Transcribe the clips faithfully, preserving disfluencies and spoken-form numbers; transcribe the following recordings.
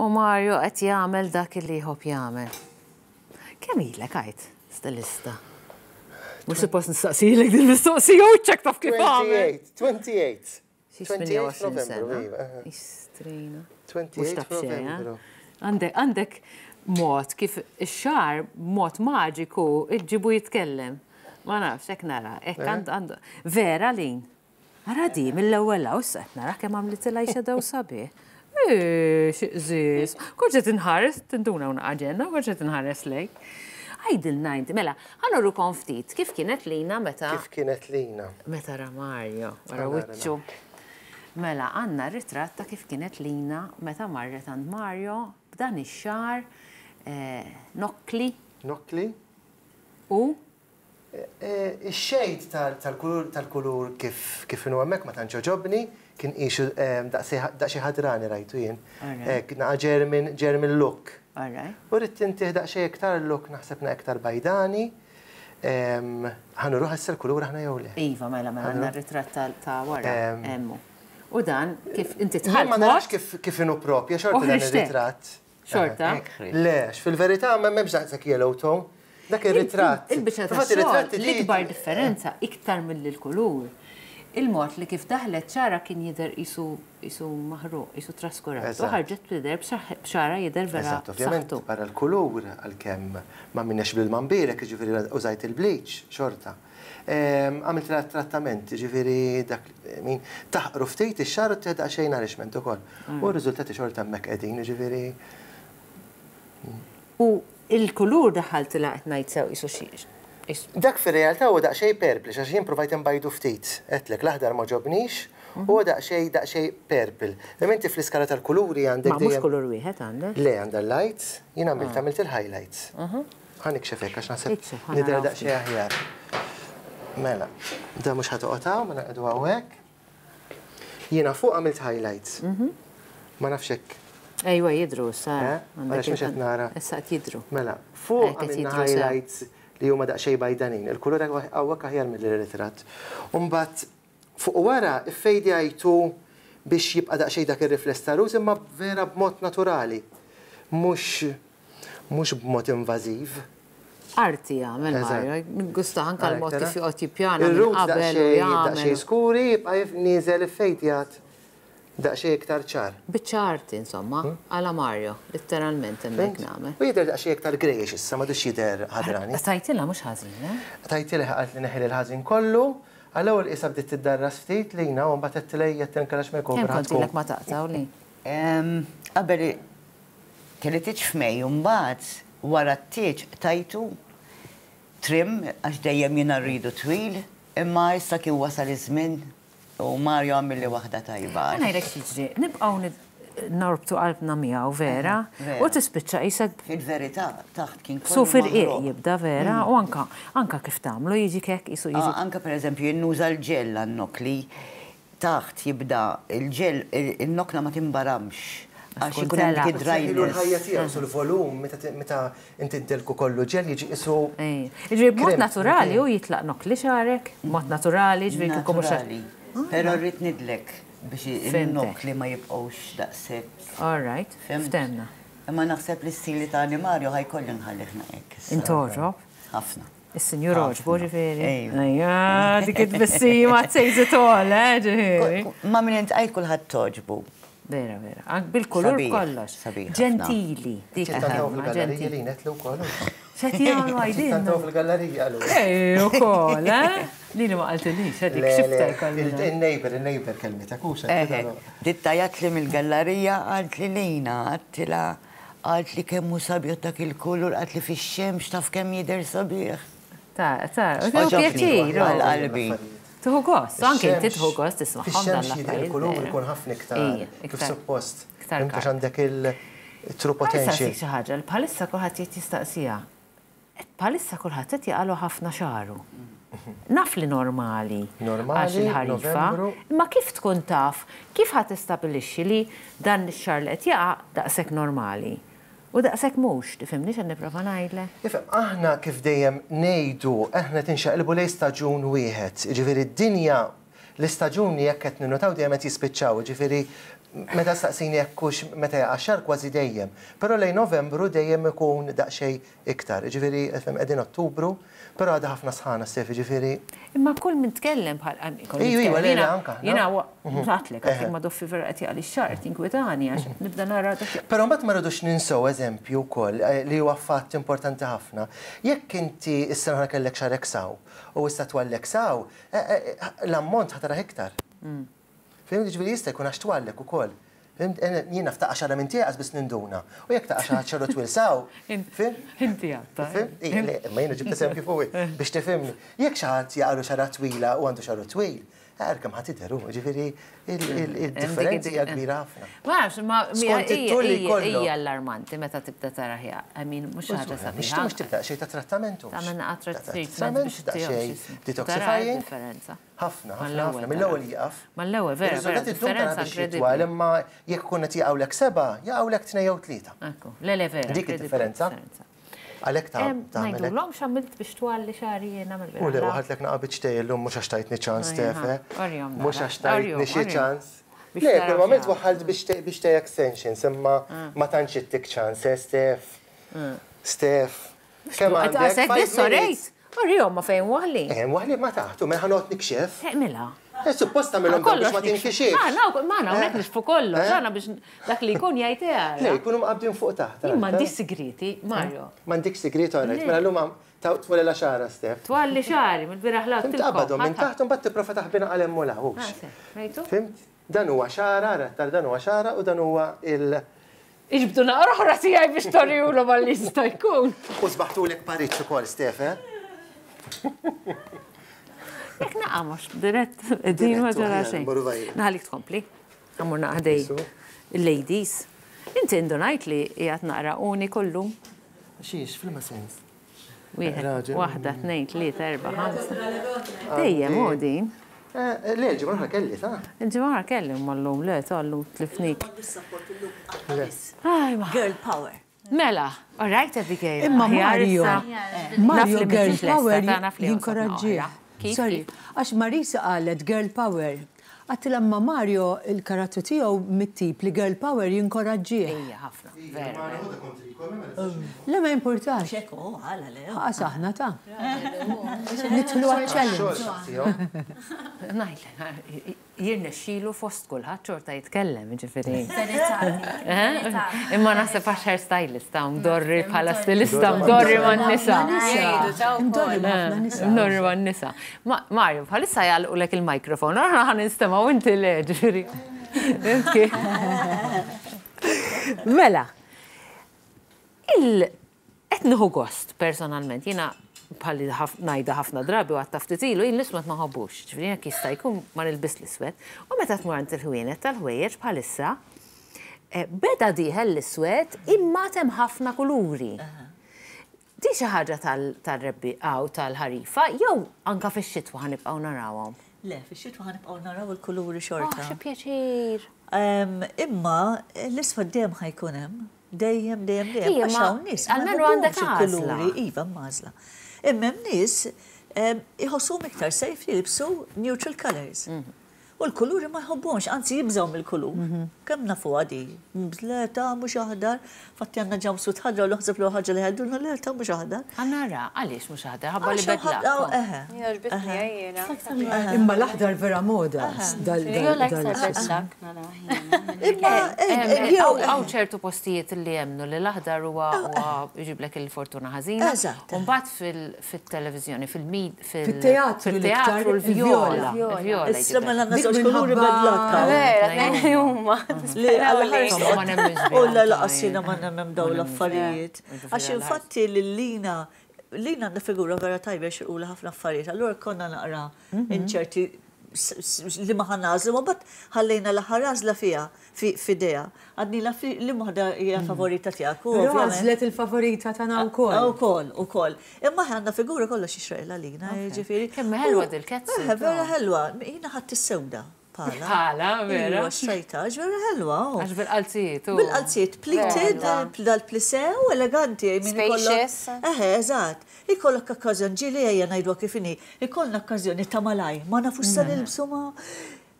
U Mario qed jagħmel dak li jħobb jagħmel. Kemm ilek għajt stilista? Mhux suppost nistaqsilek din mistoqsija u ċek taf kif għamel. twenty-eight, twenty-eight. Xi twenty-eight tmien u għoxrin Novembru, sena. iva, aha. Istrina. twenty-eight Mhux taf xejn, eh? Novembru. Għandek, għandek mod kif ix-xagħar mod maġiku iġġibu jitkellem. Ma nafx, hekk nara, hekk Eh? għandu għandu. Vera lin. Ara di, mill-ewwel hawn issa qed nara kemm għamlitilha eyeshadow sabiħ. Eh, xi qżis. Kont inħares, tinduna una aġenda, kont inħares lejk. Għidilna inti, mela, ħa nurukom ftit, kif kienet Lina meta Kif kienet Lina? Meta ra Mario, wara Ħa nara. wiċċu. Mela, għandna ritratt ta' kif kienet Lina meta marret għand Mario b'dan ix-xagħar eh, nokkli Nokkli? u Eh, Ix-shade tal-kulur tal-kulur kif kif inhu hemmhekk ma tantx għoġobni, kien qisu daqsxejn ħadrani rajtu jien. Alright. Naqa German German look. All right. U rrid intih daqsxejn iktar look, naħseb na iktar bajdani. Ħa nuruh issa l-kulur aħna jew le? Iva, mela, mela, għandna ritratt ta' ta' wara. Em. Emmu. U dan, kif inti Jien ma dħalt narax mod, kif kif inhu propja xorta dan Uħriġtek. ir-ritratt. Xorta. Le, għax fil-verità ma m'hemmx daqshekk yellow tone. Dak ir-ritratt. Il-biċċa ta' Fil-fatt xogħol, ir-ritratti di- l-ikbar differenza iktar mill-kulur. Il-mod li kif daħlet xagħarha kien jidher qisu qisu maħruq, qisu traskurat. U Eżatt. ħarġet tidher b'xagħarha jidher vera Eżatt, ovvjament, b'saħħtu. barra l-kulur, għalkemm ma minnex bil-mambirek, ġifieri użajt il-bleach, xorta. Em, Għamilt trattament, ġifieri dak, min, taħqru ftit ix-xagħar u tieħda xejn nourishment ukoll. U r-riżultati xorta hemmhekk qegħdin, ġifieri. U il-kulur daħaltilha, qed ngħid sew, qisu xi Dak fir-realtà huwa daqsxejn purple, għax jien provajt nbajdu ftit. Għedtlek l-aħdar ma għoġobnix, huwa daqsxejn daqsxejn purple. Imma inti fl-iskala tal-kuluri għandek Ma mhux dejjem- kulur wieħed għandek. Le, għandha l-lights, jien għamilt għamilt il-highlights. Ħa nikxef hekk għax naħseb Ikxef, ħa nidher naraw. daqsxejn aħjar. Mela, da mhux ħa toqgħod hawn, ma naqgħdu hawnhekk. Jiena fuq għamilt highlights. Ma nafx hekk. Ejwa, jidru issa. Eh? Għandek Għaliex mhux qed nara. Issa qed jidru. Mela, fuq Eh, qed għamilna jidru sew. highlights li huma daqsxejn bajdanin. Il-kulur hawnhekk aħjar mill-ritratt. Umbagħad fuq wara iffejdjajtu biex jibqa' daqsxejn dak ir-rifless ta' rosa, imma vera b'mod naturali. Mhux mhux b'mod invażiv. Arti jagħmel Eżatt. Mario, gusta anka l-mod Għalhekk kif tara? joqgħod jippjana minn Ir-roots qabel u daqsxejn jagħmel. daqsxejn skuri, jibqa' nieżel iffejdjat daqsxejn iktar ċar. Biċċa arti insomma, għala Mario, letteralment hemmhekk nagħmel. U jidher daqsxejn iktar greyish issa, m'għadux jidher ħadrani. Tajtilha mhux ħażin, eh? Tajtilha, għalt li neħil il-ħażin kollu, għall-ewwel qisha bdiet tiddarras ftit lina u mbagħad għedtilha tenkalax makeover Kemm kont ħa tkun. ilek ma taqtaw li? Em, Qabel kelli tieġ f'Mejju, mbagħad wara t-tieġ tajtu trim għax dejjem jiena rridu twil, imma issa kien wasal iż-żmien u Mario għamilli waħda tajba. Ħa ngħidlek x'jiġri, nibqgħu nid- norbtu qalbna miegħu vera, Vera. u tispiċċa qisek Fil-verità taħt kien kollu su fil-qiq maħruq. jibda vera, u anka anka kif tagħmlu jiġi kek qisu jiġi. Ah, anka per eżempju jien nuża l-ġell għan-nokli, taħt jibda il-ġell, il-nokla ma timbaramx għax tkun ikun hemm tela. dik Ilu l-ħajja id-dryness. tiegħu sul volum meta meta inti ddelku kollu ġel jiġi qisu. Ej, Ġifieri b'mod Krem, naturali u jitlaq nokli xagħrek, b'mod naturali, ġifieri kieku mhux Naturali. Però rrid nidlek biex Fhimtek. il-nokli ma jibqgħux daqshekk. All right, Fhimt? ftemna. Imma naħseb li stili ta' Mario ħa jkolli nħallih hekk. issa. Intogħġob. Ħafna. Is-sinjur għoġbu ġifieri. Ejwa. Ejja, dik it-tbissima says it all, eh, ġifieri. Ma minn intqajt kulħadd togħġbu. Vera, vera. Ank bil-kulur Sabiħ, kollox. sabiħ ħafna. Ġentili. Dik Ċittantaw il-kelma, fil-gallerija ġentili. li netlu wkoll. X'qed jagħmlu għajdin? Ċittantaw fil-gallerija għalu. Ej, ukoll, eh? Lili ma qaltilix, għadik xifta jkolli. Il-neighbor, il-neighbor kelmitek, u Eħe, dittajat li mill-gallerija għalt li lejna, għedtilha, għalt li kemm hu sabiħ dak il-kulur, għalt li fix-xemx taf kemm jidher sabiħ. Ta' ta' u Għoġobni, pjaċir. għal qalbi. Tieħu gost, anke inti tieħu gost tismagħhom dan Fix-xemx jidher l-affarijiet. il-kulur vera. ikun ħafna iktar Ija, kif iktar. suppost. Iktar Imtax kar. għandek il-true Ħa potential. xi ħaġa, li bħalissa kulħadd qed jistaqsija. Bħalissa kulħadd qed jaqalu ħafna xagħru. Naf li normali. Normali, għax il-ħarifa. Novembru. Imma kif tkun taf, kif ħa tistabbilixxi li dan ix-xagħar li qed jaqa' daqshekk normali? U daqshekk mhux, tifhimni x'qed nipprova ngħidlek? Ifhem, aħna kif dejjem ngħidu, aħna tinxaqilbu lejn staġun wieħed. Ġifieri d-dinja, l-istaġuni jekk qed ninnotaw dejjem qed jispiċċaw, ġifieri Meta staqsini jekk hux meta jaqa' xahar kważi dejjem. Però lejn Novembru dejjem ikun daqsxejn iktar. Ġifieri qegħdin Ottubru, però għadha ħafna sħana Stef, ġifieri. Imma kull min tkellem bħal Iju, iva, le, anka. Jiena għatlek, għatlek ma doffi vera qed jaqli x-xahar tinkwetani għax nibda nara dak. Però mbagħad ma rridux ninsew eżempju wkoll li huwa fatt importanti ħafna. Jekk inti s-sena kellek xagħrek s'hawn u issa twallek s'hawn, l-ammont ħa tarah iktar. Fhimt, ġifieri jista' jkun għax twallek ukoll. Jiena ftaqa xara minn tiegħek biss ninduna. U jekk taqa' xi ħadd xagħru twil s'hawn, fhimt? Inti għatta. Ma jiena ġibt eżempju fuqi biex tifhimni. Jekk xi ħadd jaqalu xara twila u għandu xagħru twil, għar kemm ħa tidher, ġifieri il-differenzi hija kbira ħafna. Ma nafx, ma hija allarmanti meta tibda tara ħja. I mean, mhux ħaġa sabiħa. Mhux tibda xejn ta' trattamentu. Tagħmel naqra treatment biex daqsxejn detoxifying. Ħafna, ħafna, ħafna. Mill-ewwel jieqaf. Mal-ewwel, vera, vera, differenza inkredibbli. Imma jekk ikun qed jaqgħulek seba', jaqgħulek tnejn jew tlieta. Ekku, le le vera. Dik id-differenza. Għalhekk ta' tagħmel. Ngħidulhom x'għamilt biex twalli xagħri jiena mill U le waħadlek naqa' biċ illum mhux għax tajtni ċans Stefe. Mhux għax tajtni xi ċans. Le, kull ma għamilt waħħalt biex tej extensions, imma ma tantx ittik ċans, Stef. Stef. Kemm għandek? Orihom ma fejn waħli. Eh, waħli ma taħtu, mela ħa noqgħod nikxef. Mela. Suppost tagħmilhom biex ma tinkixifx. Ah, ma hawnhekk nixfu kollox, għana biex dak li jkun jgħid għara. Le, jkunu mqabbdin fuq taħt. Jien m'għandix sigriti, Mario. M'għandix sigrieti, alright, mela llum twalli xagħra, Stef. Twalli xagħri, mill-bieraħ la. Tqabbadhom minn taħt u mbagħad tipprova taħbina għal hemm u la. Fhimt? Dan huwa xagħra, ara, dan huwa xagħra u dan huwa il- Iġbdu naqra oħra tiegħi biex torjulu malli jista' jkun. U sbaħtulek pariċ ukoll, Stef, eh? Jekk naqa' mhux dirett din ma ġara xejn. Naħalik tkompli. Għamur naqdej il-ladies. Inti indunajt li qiegħed naqra uni kollu. Xiex, fil-ma sens. Wieħed, waħda, tnejn, tlieta, erba' ħamsa. Dejjem hu din. Le, il-ġimgħa oħra kelli, ta' Il-ġimgħa oħra kelli mallum, le, tal-lum tlifnik. Girl power. Mela, all right, Abigail. Imma Mario, Mario girl power jinkoraġġih. Sorry, għax Marisa qalet girl power. Għattilha ma Mario il-karattru tiegħu mit-tip li girl power jinkoraġġih. Ejja, ħafna, vera. Le ma importax. Xeko, għala le. Ħaqas aħna ta' nidħlu għal-challenge. Ngħidlek, jirnexxilu fost kulħadd xorta jitkellem, ġifieri. Imma naħseb għax hairstylist ta' mdorri bħala stilista mdorri man-nisa. Mdorri ma' ħafna nisa. Mdorri man-nisa. Mario, bħalissa jagħlqulek il-mikrofon, aħna ħa nistemgħu inti le, ġifieri. Mela, il qed nieħu gost personalment, jiena bħalli ngħidha ħafna drabi u għatta ftit ilu, jien l-iswed ma nħobbux, ġifieri jekk jista' jkun ma nilbis l-iswed. U meta tmur għand il-ħwienet tal-ħwejjeġ bħalissa, beda dieħel l-iswed imma hemm ħafna kuluri. Di xi ħaġa tal-rebbi għaw tal-ħarifa, jew anka fix-xitwa ħa nibqgħu narawhom? Le, fix-xitwa ħa nibqgħu naraw il-kuluri xorta. Xi pjaċir. Imma l-iswed dejjem ħa jkun hemm. Dejjem, dejjem, dejjem. Għax hawn nies. Almenu għandek għażla. Iva, għażla. Imma hemm nies iħossuhom iktar safe li jilbsu neutral colors. U l-kuluri ma jħobbuhomx, anzi jibżgħu mill-kulur. Kemm nafu għadi? Le ta' mhux aħdar, fatti għandna jumpsuit ħadra u naħseb l ħaġa li ħadduna le ta' mhux aħdar. Għannara, għaliex mhux aħdar, ħabba li bedla. Imma l-aħdar vera moda. Imma Hawn ċertu postijiet li jemnu li l-aħdar huwa jġiblek il-fortuna ħażina. U mbagħad fit-televiżjoni, fil-teatru, fil-teatru l-vjola. Issa mela żewġ kuluri bad luck. Vera, tnejn huma. U la laqas jiena ma nemmen daw l-affarijiet. Għax infatti lil-Lina, Lina għandha figura vera tajba xirqula ħafna affarijiet. Allura konna naqra inċerti li ma ħa nagħżlu, ma bat ħallejna l-aħħar għażla fiha f'idea. Għadni la li waħda hija favorita tiegħek. Però għażlet il-favorita tagħna wkoll. Ukoll, ukoll. Imma għandna figura kollox jixraqilha lina, ġifieri. Kemm ħelwa dil-ketsu. Vera ħelwa, jiena ħadd is-sewda. Pala. Pala, vera. Iva, xtrajta, vera ħelwa. Għax bil-qalzijiet. Bil-qalzijiet, pleated, dal-plissé, eleganti. Spacious. Eħe, eżatt. Ikollok okkażjoni, ġieli ejja ngħidu kif inhi, ikollna okkażjoni ta' malaj, ma nafux sa nilbsu ma.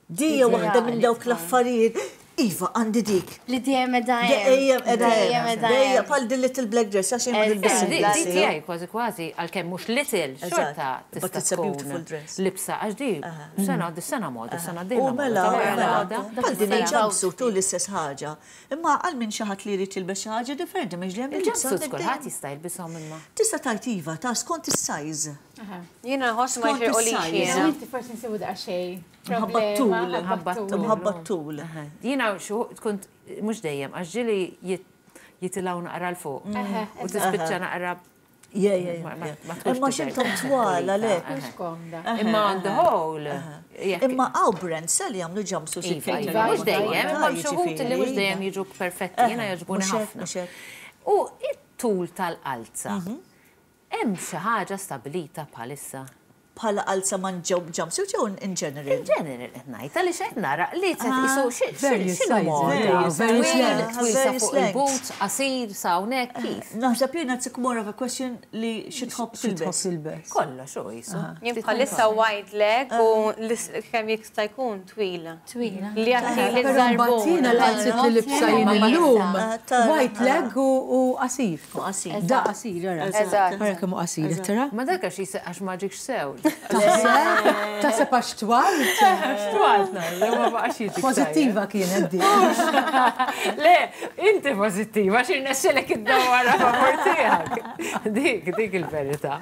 Dija waħda minn dawk l-affarijiet. Iva, għandi dik. Li dejjem edha hemm. Dejjem edha Dejjem hemm. edha Dejjem hemm. bħal di little black dress, għax jien ma Eżatt. nilbis Di il-black. di tiegħi kważi kważi għalkemm mhux little, xorta Eżatt. But tista' it's a beautiful tkun dress. libsa għax di sena di sena moda, sena U d-dieħla mela, moda, ta' mela, moda. bħal din Dak il-jumpsuit u l-istess ħaġa. Imma għal min xi ħadd li jrid jilbes xi ħaġa differenti, mhux dejjem il-libsa Il-jumpsuits għandek kulħadd dejjem. jista' jilbishom imma. Tista' tajt iva, ta' skont is-size. Jiena nħoss ma Skont jxirqulix is-size. jiena. Inti forsi nsibu daqsxejn. Mħabba t-tul. Mħabba t-tul. Mħabba t-tul. Jiena xu kont mhux dejjem għax ġieli jit- jitilgħu naqra 'l fuq. U tispiċċa naqra Yeah, yeah, Ma- ma- yeah. ma tkunx Imma tidher xintom twal għalek. Mhux komda. Imma on the whole. jekk- Imma hawn brands li jagħmlu jumpsuits Iva, jikkejtu iva, mhux li dejjem, imma jiġifieri. xi wħud li mhux dejjem jiġu perfetti, jiena jogħġbuni Mhux hekk, ħafna. mhux hekk. U it-tul tal-qalza, hemm xi ħaġa stabilita bħalissa? Bħala qalza man jumpsuit jew in general? In general qed ngħid, għaliex qed nara li qed isu Various x'inhu sizes, moda. various Twil, lengths. twil sa Various fuq lengths. il-boots, qasir sa hawnhekk kif? Naħseb jiena it's more of a question li xi tħobb Xi tħobb tilbes. tilbes. Kollox u jisu. Jien bħalissa wide leg u lis- kemm jista' jkun twila. Twila. Li għati li Però mbagħad jiena l-qalzit li libsa jien illum, Tara. white leg u u qasir. U qasir. Da qasir, ara. Eżatt. Ara kemm hu qasir, tara? Ma dak għax jis- għax ma ġikx sew. Taħseb? Taħseb għax twalt? Twalt ngħid, ma baqax jiġik Pożittiva kienet di. Le, inti pożittiva, xi rnexxelek id-dawara favor tiegħek. Dik, dik il-verità.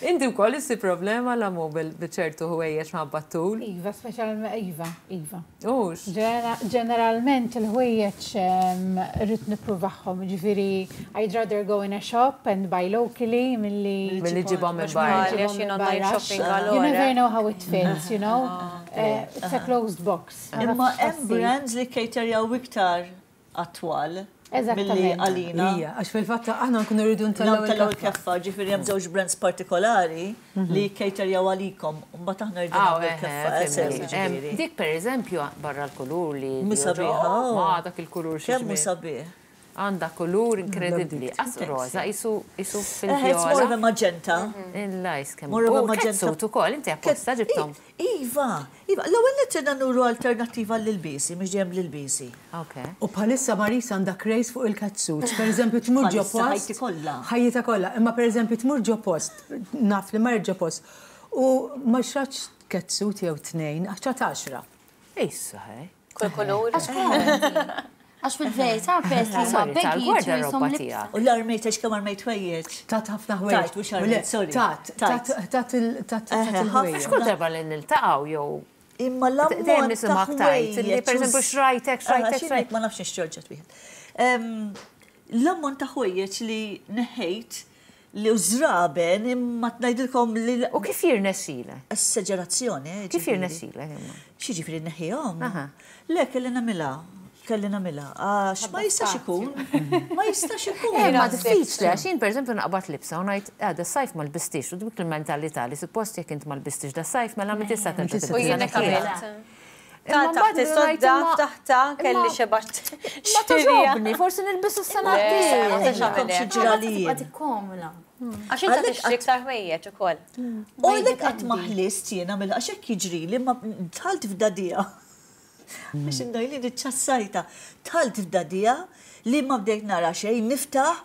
Inti wkoll issi problema la mu bil-ċertu ħwejjeġ minħabba tul. Iva, speċjalment Iva, Iva. Ux. Ġenera- Ġeneralment il-ħwejjeġ em, rrid nippruvahom, ġifieri I'd rather go in a shop and buy locally milli Milli ġibhom minn barra. Għalli għax jien online barra. shopping You għalora. never know how it fits, you know? Eh, It's a closed box. Ma Imma nafx hemm tħassib. brands li caterjaw iktar għat-twal milli Eżattament. għalina. Ija, għax fil-fatt aħna nkunu rridu ntellgħu Ntellgħu il-keffa. il-keffa, ġifieri hemm żewġ brands partikolari li caterjaw għalikom, u mbagħad aħna rridu Ah, nagħmlu l-keffa, eh, sew, ġifieri. Dik per eżempju, barra l-kulur li. Mhu sabiħa, oh. Ma dak il-kulur xi Kemm hu ġmiel. sabiħ. Għandha kulur inkredibbli. As roza, jisu jisu Eh, It's more of a fil-vjola. magenta. Il-lajs kemm. More of a U magenta. catsuit ukoll, inti apposta ġibtom. Iva, Iva, l-ewwel nett nuru alternattiva lil-bisi, mhux dejjem lil-bisi. Ok. U bħalissa Marisa għandha craze fuq il-catsuits. Per eżempju, tmur ġo Bħalissa post. ħajti kollha. Ħajjita kollha. Imma per eżempju, tmur ġo post, naf li mar ġo post, u ma xratx catsuit jew tnejn, għax xtrat għaxra. Issa, hej. Kull kulur. Għax fil-verità, peress li huma Sorry, baggy tal-gwardarobba jisom tiegħek. U l-armejt għax kemm armejt ħwejjeġ. Tat ħafna ħwejjeġ. Tajt, mhux armejt, sorry. Tat, tat, tat il- tat tat Eħe, il-ħwejjeġ. Kull darba li niltaqgħu jew Imma l-ammont Dejjem nisimgħek ta' tajt, li ħwejjeġ per eżempju u s- xrajtek, xrajtek, Ah, xi xrajtek. Ma nafx nixxorġat wieħed. Em, L-ammont ta' ħwejjeġ li neħejt li użraben imma tnajdilkom li U kif jirnexxilek? Esagerazzjoni. eh, Kif ġifieri. jirnexxilek imma? Xi ġifieri neħħihom? Aha. Le, kelli nagħmilha. Kelli nagħmilha. Għax ma jistax ikun. Ma jistax ikun. Eh, ma diffiċli, għax jien per eżempju naqbad libsa u ngħid, ah, da sajf ma lbistix, u dik il-mentalità li suppost jekk int ma lbistix da sajf mela mi tista' terġa' U tilbisha jiena neħħiha. kamilt. Imma Ta' mbagħad taħt is-sodda, ngħid, ftaħta, kelli imma- xeba Ma toġobni, forsi nilbisu s-sena Le, d-dieħla. ma tistax Kom xi għamel hekk. ġralijiet. tikkomla. Għax inta tixtri iktar ħwejjeġ ukoll. U għalek qatt ma ħlist jiena mill għax hekk jiġri ma dħalt f'dadija. Biex indajli ċassajta. Dħalt f'dadija li ma bdejt nara xejn, niftaħ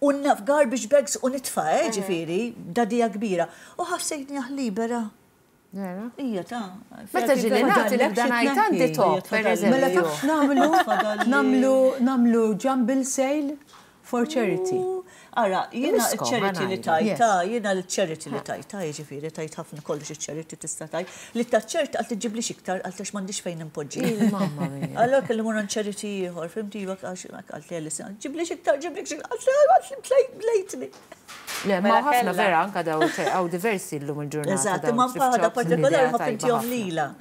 u naf garbage bags u nitfa' eh, ġifieri, dadija kbira. U ħassejtni libera. Vera? Ija ta' Meta ġili nagħti nibda ngħid għandi top, per Mela eżempju. taf nagħmlu nagħmlu nagħmlu jumble sale for charity. Ara, jiena Imiskom, il-charity li ħa ngħidu. tajta, jiena l-charity li tajta, jiġifieri tajt ħafna kollox il-charity tista' tajt. Li ta' ċert għal tiġiblix iktar għal tax m'għandix fejn impoġġi. Mamma mia. Allora kelli mur għand charity ieħor, fimti jibak għax għalt li għal ġiblix iktar, ġiblix iktar, għalt li blejtni. Le, ma Mela ħafna kellha. vera anka daw għaw diversi llum il-ġurnata. Eżatt, dawn imma thrift ħaġa shops, partikolari l-idea ma tajba fimtihom ħafna. lila.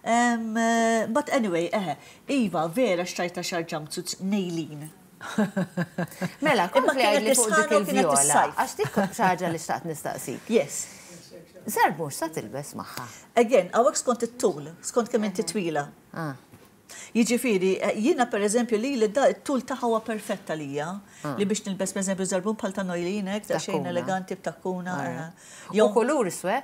Um, eh, But anyway, eħe, Iva, vera xtrajta xar jumpsuits nejlin. Mela, Imma kompli kienet għidli fuq dik isħana u kienet il-vjola. is-sajf. Għax dik xi ħaġa li xtaqt nistaqsik. Yes. Żarbun sa tilbes magħha. Again, għawek skont it-tul, skont kemm inti twila. Ah. Jiġifieri, eh, jiena per eżempju li li da it-tul tagħha huwa perfetta lija, li biex nilbes per eżempju żarbun bħal ta' nojlinek, ta' xejn Takkuna. eleganti b'takkuna. eh. Jew kulur iswed?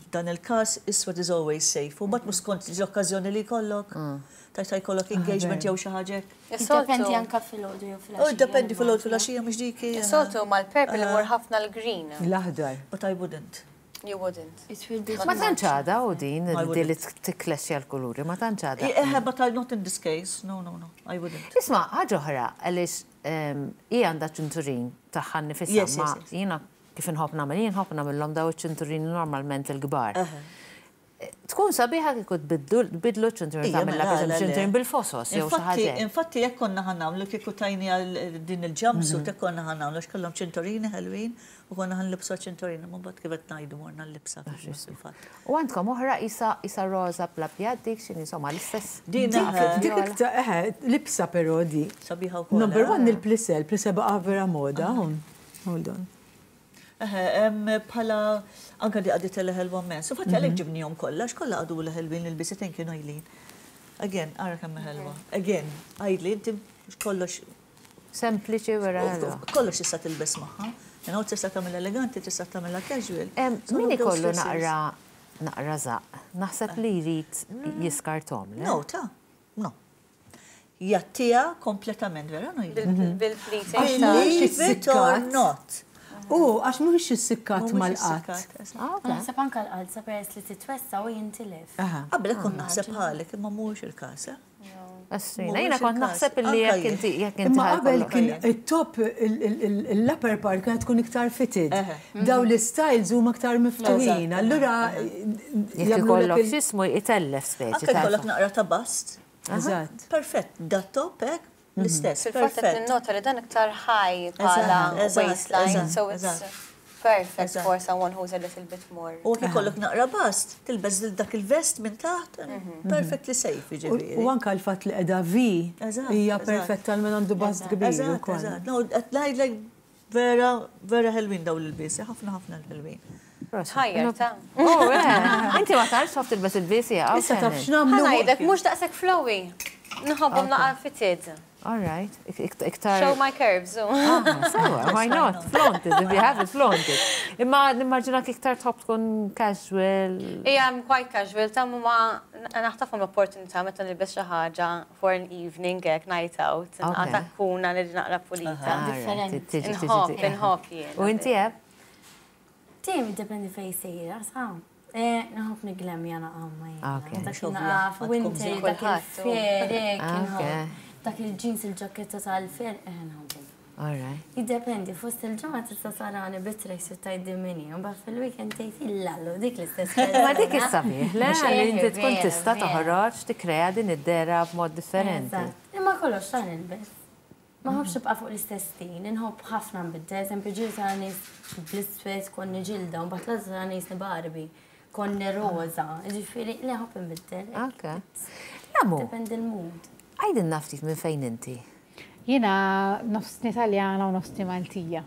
F'dan il-każ, iswed is always safe. U mbagħad mhux skont l-okkażjoni li jkollok. Tajt jkollok engagement jew xi ħaġa hekk. Jiddependi anka filgħodu jew filgħaxija. Oh, dependi filgħodu filgħaxija mhux dik. Soltu mal-purple imur ħafna l-green. L-aħdar. But I wouldn't. You wouldn't. It will be Ma tantx għada u din di li tikklexxja l-kuluri, ma tantx għada. Eh, but I not in this case. No, no, no, I wouldn't. Isma', ħaġa oħra, għaliex hija għandha ċinturin tagħha nifisha, ma jiena kif inħobb nagħmel, jien nħobb nagħmilhom daw iċ-ċinturin normalment il-kbar. Tkun sabiħa kieku tbidlu ċinturin tagħmilha pereżempju ċinturin bil-fosos jew xi ħaġa. Infatti jekk konna ħa nagħmlu kieku tajni għal din il-jumpsuit jekk konna ħa nagħmlu x'kellhom ċinturini ħelwin u konna ħa nlibsu ċinturini, ma mbagħad kif qed ngħidu morna l-libsa fil-fatt. U għandkom oħra isa isa roża bl-abjad dik x'inhi insomma l-istess. Din dik iktar eħe libsa però di. Sabiħa wkoll. Number one il-plissé, il-plissé baqa' vera moda. Hold on. Bħala anka di għadit l-ħelwa mens. U fatti għalek ġibnihom kollha, x'kollha għadu l-ħelwin il-bisitin kienu jlin. Again, ara kemm ħelwa. Again, għajdli inti kollox. Sempliċi vera ħelwa. Kollox tista' tilbes magħha. You know, tista' tagħmel eleganti, tista' tagħmilha casual. Min ikollu naqra naqra żaq, naħseb li jrid jiskartom, le? No, ta' no. Jattija kompletament, vera, no? Bil-pleating. Believe it or not. U, għax mhux issikkat mal-qatt. Naħseb anka l-qalza peress li titwessa u jintilef. Qabel kont naħseb ħalek, imma mhuwiex il-każ. Asrina, jiena kont naħseb illi jekk inti jekk inti Imma qabel kien it-top l-upper part kienet tkun iktar fitted. Daw l-styles huma iktar miftuħin. Allura jekk ikollok x'ismu jitellef speċi. Anke jkollok naqra ta' bust. Eżatt. Perfett, da top hekk l-istess. Fil-fatt qed ninnota li dan iktar high bħala waistline, so it's perfect for someone who's a little bit more. U jekk ikollok naqra bust, tilbes dak il-vest minn taħt, perfectly safe, jiġifieri. U anka l-fatt li qiegħda V hija perfetta għal min għandu bust kbir ukoll. Eżatt, no, qed ngħidlek vera, vera ħelwin dawn l-ilbiesi, ħafna ħafna l-ħelwin. Tħajjar ta' Oh, Inti ma tarx taf tilbes il-biesi, Issa taf x'nagħmlu. Ħa ngħidlek mhux daqshekk flowy. Nħobbhom naqra fitted. All right. Iktar. Show my curves. Sewa, why not? Flaunt it, if you have it, flaunt it. Imma nimmaġina iktar tħobb tkun casual. Ija, I'm quite casual, ta' ma naħtafhom l-opportunità meta nilbes xi ħaġa for an evening, hekk night out. Għatakkuna li naqra pulita. Differenti. Inħobb, inħobb jien. U inti eb? Tim, dependi fej sejra, sa. Nħobb niglemja naqamma Ok. Dak naqaf, winter, dak il-fer, inħobb. Dak il-jeans il-ġaketta tal-fer, nħobbu. All right. Jiddependi, fost il-ġimgħa tista' sarani bit-tracksuit tgħiddi minni, u mbagħad fil-weekend tgħid illallu dik l-istess. Ma dik is-sabiħ, le li inti tkun tista' toħroġ tikkrea din id-dera b'mod differenti. Imma kollox ta' nilbes. Ma nħobbx nibqa' fuq l-istess stil, inħobb ħafna nbiddel, eżempju ġieli tara nies bl-iswed konni ġilda, u mbagħad l tara nies Barbie, konni roża, ġifieri li nħobb nbiddel. Ok. Lamu. Dependi l-mood. Għajdilna ftit minn fejn inti? Jiena nofsni Taljana u nofsni Maltija.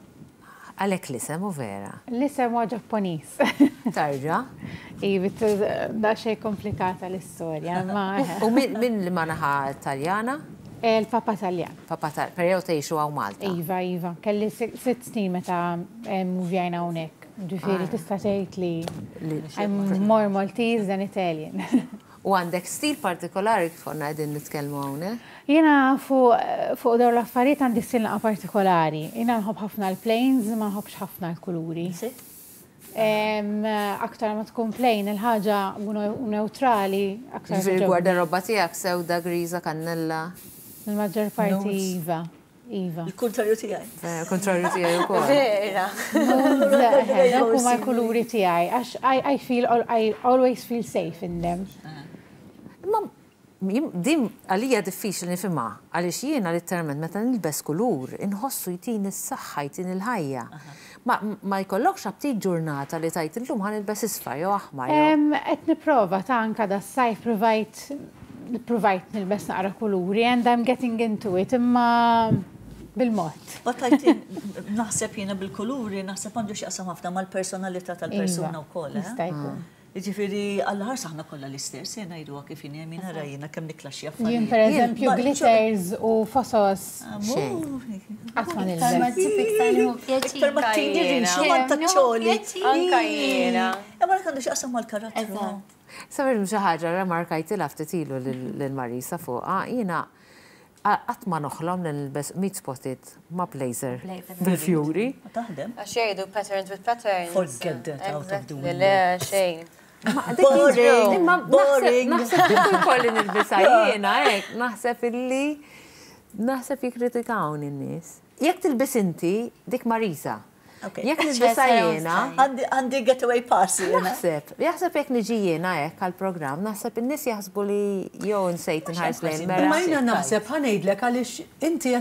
Għalek l-isem u vera? L-isem huwa Ġappuniż. Tarġa? Iva, daqsxejn komplikata l-istorja, ma. U minn li ma naħa Taljana? Il-papa Taljan. Papa Taljan, però tgħixu hawn Malta? Iva, iva. Kelli sitt snin meta muvjajna hawnhekk. Ġifieri tista' tgħid li I'm more Maltese than Italian. U għandek stil partikolari kif konna qegħdin nitkellmu hawnhekk? Jiena fuq dawn l-affarijiet għandi stil naqa partikolari. Jiena nħobb ħafna l-plains, ma nħobbx ħafna l-kuluri. Aktar ma tkun plain il-ħaġa u neutrali, aktar. Ġifieri gwardarobba tiegħek sewda, griża, kannella. Il-maġġor parti iva. Iva. Il-kontrarju tiegħi. Il-kontrarju tiegħi wkoll. Vera. Dawk huma l-kuluri tiegħi għax I feel I always feel safe in them. Imma din għalija diffiċli nifhimha għaliex jiena literalment meta nilbes kulur inħossu jtini s-saħħa, jtini l-ħajja. Ma jkollokx aptit ġurnata li tajt illum ħa nilbes isfar jew aħmar. Qed nipprova ta' anka das-sajf provajt provajt nilbes naqra kuluri and I'm getting into it imma bil-mod. But I think naħseb jiena bil-kuluri, naħseb għandu x'jaqsam ħafna mal-personalità tal-persuna wkoll. Jista' jkun. Jiġifieri għall-ħars aħna kollha l-istess, jien ngħiduha kif inhi min ara jiena kemm niklaxxi affarijiet. Jien pereżempju glitters u fosos. Qatt ma nilbes. Iktar ma tini rixu ma taċċoli. Anka jiena. Imma Ma għandu x'jaqsam mal-karattru. Sabir xi ħaġa remarkajtilha ftit ilu lil Marisa fuqha, jiena qatt ma noħlom li nilbes meat spotted ma' blazer bil-fjuri. Taħdem. Għax jgħidu patterns with patterns. Forget that out of the window. Le, xejn. Boring, boring. Naħseb kieku jkolli nilbisha jiena hekk, naħseb illi naħseb jikkritikawni n-nies. Jekk tilbis inti dik Marisa. Jekk nilbisha jiena. Għandi getaway pass jiena. Naħseb, jaħseb jekk niġi jiena hekk għall-programm, naħseb in-nies jaħsbu li jew nsejt inħares lejn mera. Imma jiena naħseb ħa ngħidlek għaliex inti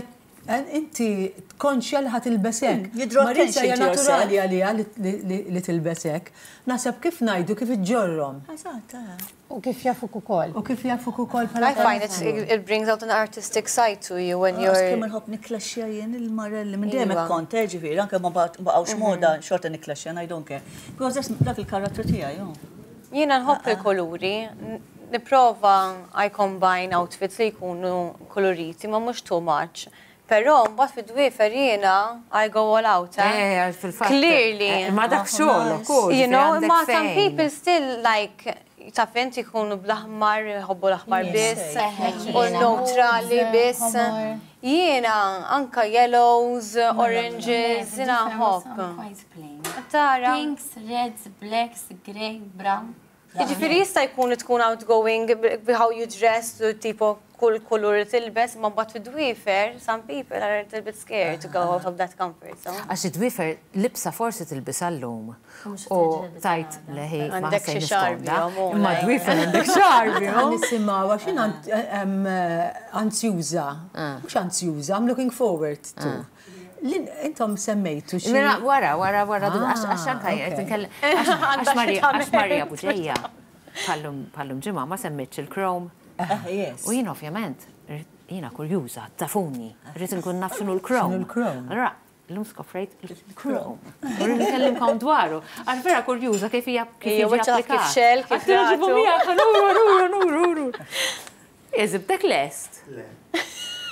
inti konxja li ħa tilbes hekk. Marisa hija naturali għaliha li tilbes hekk. Naħseb kif ngħidu kif iġġorrhom. Eżatt. U kif jafuk ukoll. U kif jafuk ukoll bħala. I find it, it brings out an artistic side to you when you're. Kemm inħobb niklaxxja jien il-marelli minn dejjem hekk kont, ġifieri, anke ma baqgħux moda xorta niklaxxja, I don't care. Because dak il-karattru tiegħi. Jiena nħobb il-kuluri. Nipprova I combine outfits li jkunu koloriti, ma mhux too much. Però mbagħad fid-dwiefer jiena I go all out. Eh, fil-fatt. Clearly. Ma dak xogħol ukoll. You know, ma some people still like taf inti jkunu bl-aħmar, jħobbu l-aħmar biss, u neutrali biss. Jiena anka yellows, oranges, jiena nħobb. Tara. Pinks, reds, blacks, grey, brown. Jiġifieri jista' jkun tkun outgoing how you dress, tipo kull kulur li tilbes, ma mbagħad fid-dwiefer, some people are a little bit scared to go out of that comfort zone. Għax id-dwiefer libsa forsi tilbisha llum. U tajt leħi ma Għandek xi xarbi, Imma dwiefer għandek xarbi. Nisimgħu għax jien anzjuża. Mhux anzjuża, I'm looking forward to. Intom semmejtu xi. Wara, wara, wara, għax anka għax Marija Buġeja bħallum ġimgħa ma semmitx il-chrome. U jien ovvjament, jiena kurjuża, tafuni, rrid nkun naf x'inhu l-chrome. Allura, llum skoprejt il-chrome. U rrid nkellimkom dwaru. Għax vera kurjuża kif hija kif jiġi applikat. Kif xell, kif nuru, nuru, nuru, nuru. Eżibtek lest. Le.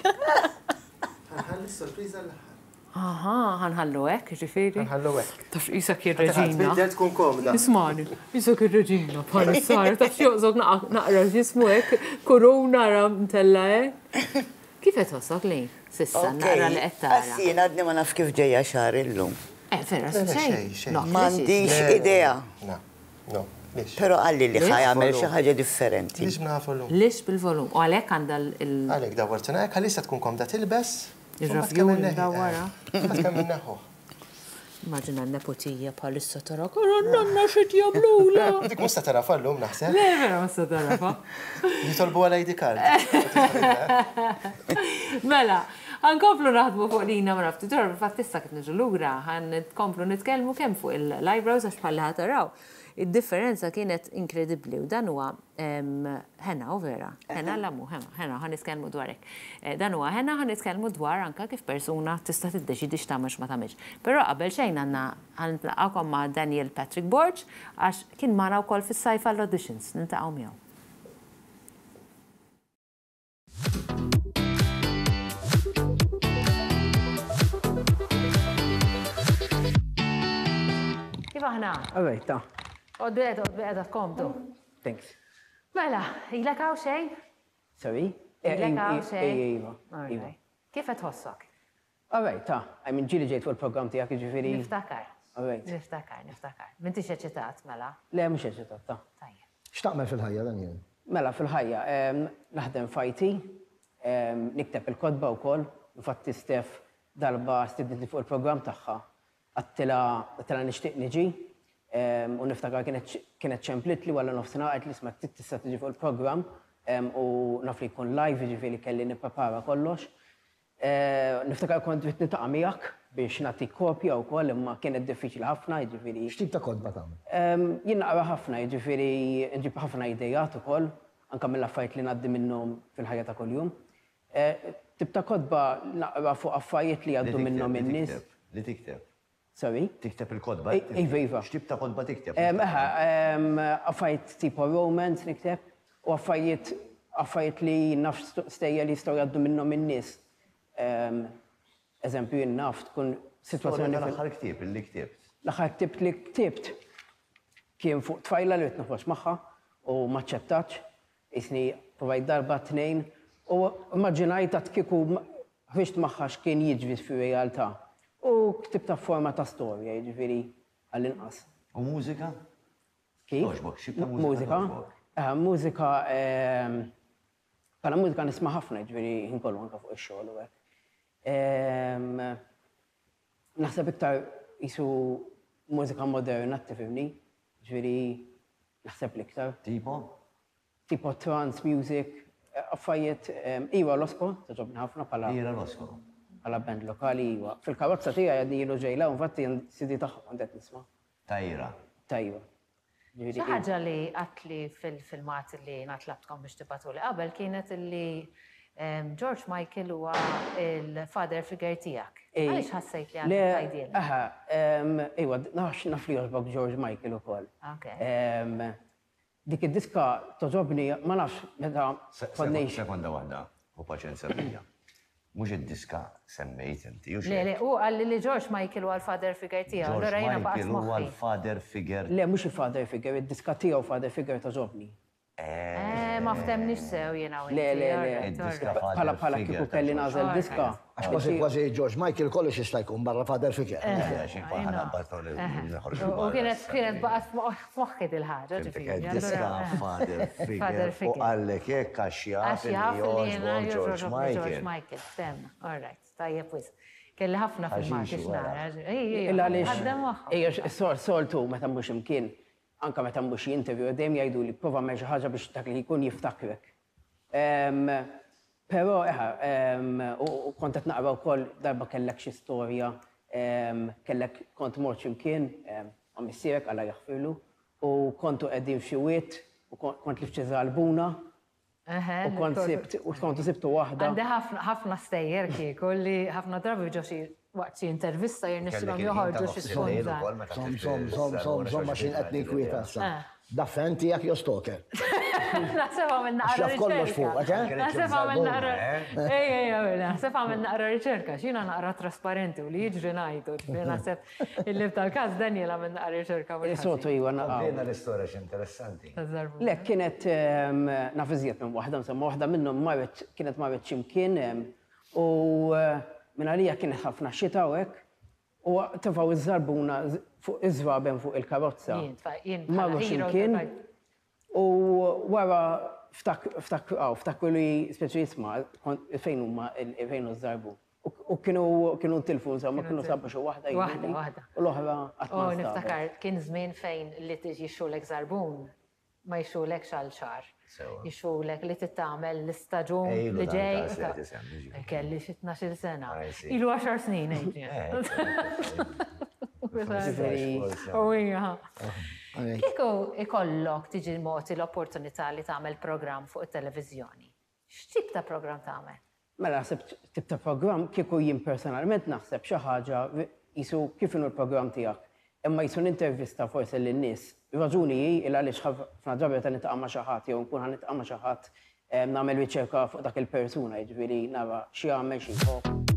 Ħalli sorpriża l-aħħar. Aha, ħanħallu hekk, ġifieri. Ħanħallu hekk. Taf qisek ir-reġina. Tbiddel tkun komda. Ismani, qisek ir-reġina bħalissa, taf x'joqżok naqra x'jismu hekk, korona ra mtella hekk. Kif qed tħossok li? Sissa naqra li qed tara. Għax jien għadni ma naf kif ġejja xagħar illum. Eh, vera, xejn. M'għandix idea. No, no. Però qalli li ħa jagħmel xi ħaġa differenti. Lix b'na volum. Lix bil-volum. U għalhekk għandha il- Għalhekk dawwartuna hekk għalissa tkun komda tilbes. Il-rafjun dawwara. Immaġina n-nepotija bħalissa tara, kara nanna xi jagħmlula. Dik mhux se tarafa llum naħseb. Le, vera mhux se tarafa. Jitolbu għal I D card. Mela, ħankomplu naħdmu fuq lina ma nafti dwar, fatt issa kif niġu lura, ħan nkomplu nitkellmu kemm fuq il-eyebrows għax bħalli ħa taraw. Id-differenza kienet inkredibbli u dan huwa henna u vera. Henna l-amu, henna, ħan nitkellmu dwar hekk. Dan huwa henna ħan nitkellmu dwar anka kif persuna tista' tiddeċidi x'tagħmel x'ma tagħmilx. Però qabel xejn għandna ħan nitlaqgħukom ma' Daniel Patrick Borg għax kien magħna wkoll fis-sajf għall-auditions, niltaqgħu miegħu. Kif aħna? All right, ta. Għod bil-qeda, għod bil-qeda tkomdu. Thanks. Mela, ilek hawn xejn? Sorry? Ilek hawn xejn? Iva, iva. Kif qed tħossok? All right, ta. I mean, ġieli ġejt fuq il-programm tiegħek, jiġifieri. Niftakar. All right. Niftakar, niftakar. M'intix eċitat, mela? Le, mhux eċitat, ta. Tajjeb. X'taqmel fil-ħajja, Daniel? Mela, fil-ħajja, naħdem f'I T, nikteb il-kotba wkoll, infatti Steph darba stidnitni fuq il-programm tagħha. Għattila nixtieq niġi, u niftakar kienet ċemplitli wara nofsinhar qalt li isma' tista' tiġi fuq il-programm u naf li jkun live, jiġifieri kelli nipprepara kollox. Niftakar kont rrid niltaqa' miegħek biex nagħti kopja wkoll, imma kienet diffiċli ħafna, jiġifieri. X'tip ta' kotba tagħmel? Jien naqra ħafna, jiġifieri nġib ħafna idejat ukoll, anke mill-affarijiet li ngħaddi minnhom fil-ħajja ta' kuljum. Tip ta' kotba naqra fuq affarijiet li jgħaddu minnhom in-nies. Li tikteb. Sorry? Tikteb il-kotba? Iva, iva. X'tip ta' kotba tikteb? Eħe, affarijiet tipo romance nikteb u affarijiet affarijiet li naf stejjer li jistgħu jgħaddu minnhom in-nies. Eżempju, jien naf tkun sitwazzjoni L-aħħar ktieb li ktibt. L-aħħar ktieb li ktibt. Kien fuq tfajla li noħroġ magħha u ma ċċettatx, jisni provajt darba tnejn, u immaġinajt għat kieku ħriġt magħha x'kien jiġri fir-realtà. U ktibta forma ta' storja, jiġifieri għall-inqas. U mużika? Kif? Togħġbok, xi ta' Mużika? Mużika, bħala mużika nisma' ħafna, jiġifieri ħin kollu anke fuq ix-xogħol u hekk. Naħseb iktar jisu mużika moderna, tifhimni, ġifieri naħseb l-iktar. Tipo? Tipo trance music, affarijiet, Ira Losco, togħġobni ħafna bħala. Ira Losco. Bħala band lokali, iwa. Fil-karozza tiegħi għadni ilu ġejla, infatti C D tagħhom għandet nisma'. Ta' Ira. Ta' Ira. Xi ħaġa li għatli fil-filmat li natlabtkom biex tibatuli qabel kienet li George Michael huwa il-father figure tiegħek. Għaliex ħassejt li għandek tgħidilna? Aha, iwa, nafx naf li jogħġbok George Michael ukoll. Dik id-diska togħġobni, ma nafx meta konniex. Sekonda waħda, u paċenzja bija. Mhux id-diska semmejt inti, u Le, le, u qalli li George Michael huwa l-father figure tiegħu, allura jiena baqgħet George Michael huwa moħħi. l-father figure. Le, mhux il-father figure, id-diska tiegħu father figure togħġobni. Eh, ma ftemniex sew jiena u Le, le, le. inti, alright, Id-diska alright. father Bħala bħala figure kieku ta' kelli George nagħżel Michael. diska. Għax kważi kważi George Michael kollox jista' jkun barra father figure. Eh, xi bħala nabbato li noħorġu U barra kienet issa. kienet baqgħet f'moħħi dil-ħaġa, Fimtek, ġifieri, id-diska allura, eh. father Father figure u figure. qallek hekk għax jaf Għax li jaf li jiena jogħġbok George jogħġobni George Michael. Michael, ftemna, all right, tajjeb wisq. Kelli ħafna filmati Għax wara. x'nara, ej, ej, Illa għaliex ħaddem moħħok. Ejja, soltu meta mhux imkien, anka meta mhux interview, dejjem jgħidu li prova għamel xi ħaġa biex dak li jkun jiftakrek. Però, eħa, u kont qed naqra wkoll darba kellek xi storja, kellek kont mort x'imkien, ma' missierek Alla jaħfirlu, u kontu qegħdin f'xi wied, u kont li f'xi żarbuna, u kont sibt, u kontu sibtu waħda. Għandi ħafna stejjer kieku li ħafna drabi ġo xi waqt xi intervista jirnexxilhom Kellek il-ħin joħorġu ta' xi nofs il-lejl spontan. ukoll meta Som, tixtri som, som, som, som, għax jien qed ninkwieta issa. Eh. Da fan tiegħek jew stalker? Naħseb għamil naqra Xaf kollox riċerka. fuqek, eh? Naħseb għamil naqra. Eh? Ej, ej, ej, naħseb għamil naqra riċerka, x'jiena naqra trasparenti u li jiġri ngħidu, ġifieri naħseb il-lib tal-każ Daniel għamil naqra riċerka mhux Is-soltu ħażin. iwa naqgħu. Komplejna l-istorja x'interessanti. Taż-żarbuna. Le, kienet, ehm, naf iżjed minn waħda, insomma, waħda minnhom marret, kienet marret x'imkien, ehm, u, eh, minn għalija kienet ħafna xita u hekk, u tefgħu iż-żarbuna fuq iż-żraben fuq il-karozza. Jien, tfa-, jien bħala Marru hero x'imkien, ta' u wara ftak-, ftak-, aw, ftakru li speċi jisma' kon-, fejn huma il-, fejn hu ż-żarbun. U, u kienu, kienu ntilfu, insomma, kienu sabu xi waħda Waħda, jgħiduli, waħda. U l-oħra qatt ma Oh, nstabet. niftakar, kien żmien fejn li tiġi jixxulek żarbun, ma jixxulekx għal xahar. Sewa. Jixxulek li titgħamel l-istaġun Ejlu li dan ġej. il-każ li qed isemmi, ġifieri. Kelli xi tnax-il sena. I see. Ilu għaxar snin, Adrian. U hija. Kieku ikollok tiġi mogħti l-opportunità li tagħmel programm fuq it-televiżjoni. X'tip ta' programm tagħmel? Mela naħseb tip ta' programm kieku jien personalment naħseb xi ħaġa jisu kif inhu l-programm tiegħek. Imma jisu nintervista forsi lin-nies. Raġuni hi il għaliex ħafna drabi meta niltaqa' ma' xi ħadd jew nkun ħa niltaqa' ma' xi ħadd, em, nagħmel riċerka fuq dak il-persuna, jiġifieri nara x'jagħmel, xi jħobb.